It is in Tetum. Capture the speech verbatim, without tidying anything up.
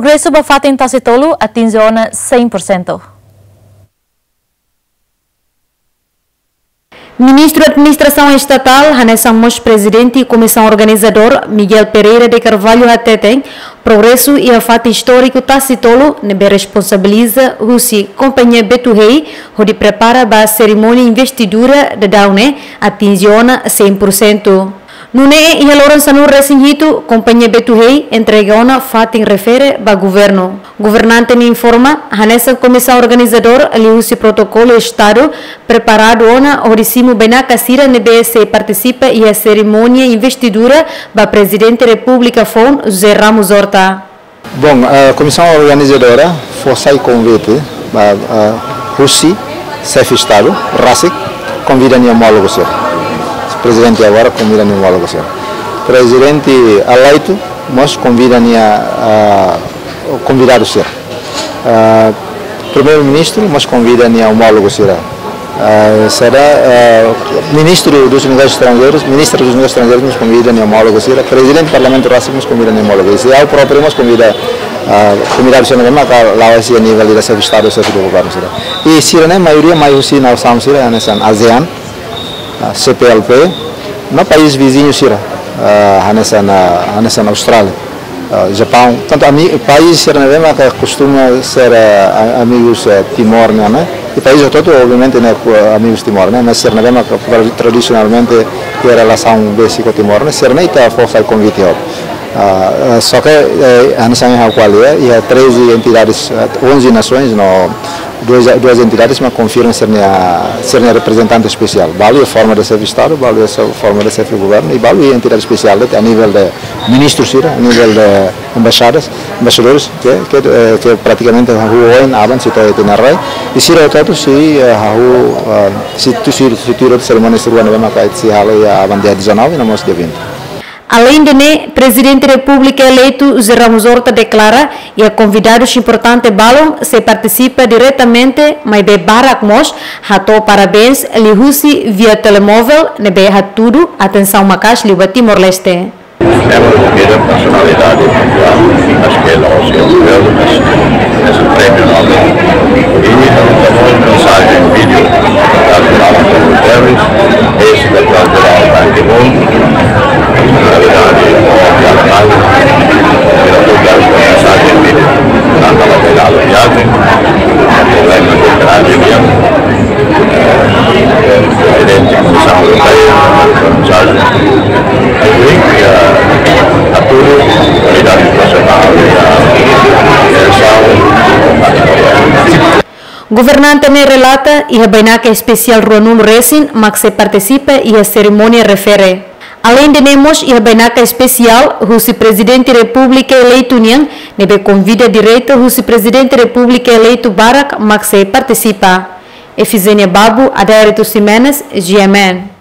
Progresu ba fatin Tasi Tolu atinje ona cem por cento. Ministru Administrasaun Estatál, hanesan mós Prezidente Komisaun Organizadór, Miguel Pereira de Carvalho hateten, progresu iha fatin istóriku Tasi Tolu ne'ebé responsabiliza husi Kompañia Betu Hey hodi prepara ba serimónia investidura daudaun ne'e atinje ona cem por cento. Nune'e iha loron sanulu-resin-hitu, Kompañia Betu Hey entrega ona fatin refere ba governu. Governante ne'e informa, hanesan Komisaun Organizadór liuhusi protokolu Estadu preparadu ona hodi simu bainaka sira ne'ebé sei partisipa iha serimónia investidura ba Prezidente Repúblika foun José Ramos Horta. Bom, a Komisaun Organizadora fó sai konvite ba, ah, husi Xefe Estadu rasik, konvida nia omólogu sira. Prezidente agora konvida nia omólogu sira. Prezidente eleitu mós konvida nia, ah, konvidadu sira. Ah, Primeiru-Ministru mós konvida nia omólogu sira. Ah, sira, ah, Ministru dos Negósius Estranjeirus, Ministra dos Negósius Estranjeirus mós konvida nia omólogu sira. Prezidente Parlamentu rasik mós konvida nia omólogu. I ha'u própriu mós konvida, ah, konvidadu sira ne'ebé maka la'o husi nivel de Xefe Estadu, Xefe de Governu sira. I sira-ne'e maioria mai husi nasaun sira hanesan ASEAN, ah, C P L P, no país viziñu sira, ah, hanesan, ah, hanesan Austrália, ah, Japaun. Tantu ami, país sira ne'ebé maka kostuma ser, ah, a-, amigus, ah, Timor nian, ne'e? I país hotu-hotu, obviamente, ne'e, ku, ah, amigus Timor, ne'e? Mas sira ne'ebé maka tra-, tradisionalmente iha relasaun besik ho Timor, ne'e? Sira-ne'e ita fó sai konvite hotu. Ah, ah, só ke, eh, hanesan ha'u ko'alia, iha treze entidades, ah, onze nações, no duas, duas entidades, mas konfirma sira-nia, sira-nia reprezentante espesiál. Balu iha forma de Xefe Estadu, balu iha forma de Xefe Governu, i balu iha entidade espesiál, a nível de ministru sira, a nível de embaixadas, embaixadores, ke, ke, eh, ke pratikamente hahú oin aban sei to'o iha tinan rai. I sira hotu-hotu sei, eh, hahú, eh, sei tuir, sei tuir serimónia sira ne'ebé maka sei hala'o iha aban dia dezanove, no mós dia vinte. Aleinde ne'e, Prezidente Repúblika eleitu José Ramos Horta deklara, iha konvidadus importante balun sei partisipa diretamente, maibé barak mós hato'o parabéns liuhusi via telemóvel ne'ebé hatudu atensaun maka'as liu ba Timor-Leste. Hemos recibido personalidades, acho que los europeos, es un premio Nobel. Y también tenemos un mensaje en vídeo, al general António Guterres, ex secretario general Ban Ki-moon, personalidades de Alemania, y nosotros un mensaje en vídeo, tanto a la llegada del viaje, el problema de Ucrania, Prezidente Komisaun Europeia, Komisáriu Henrique, a, a todos, a comunidade internacional, a, a, Governante ne'e relata, iha bainaka espesiál ruanulu resin mak sei partisipa iha serimónia refere. Aleinde ne'e mós iha bainaka espesiál husi Prezidente Repúblika eleitu nian, ne'ebé konvida direta husi Prezidente Repúblika eleitu barak mak sei partisipa. Efizénia Babu, Adérito Ximenes, G M N.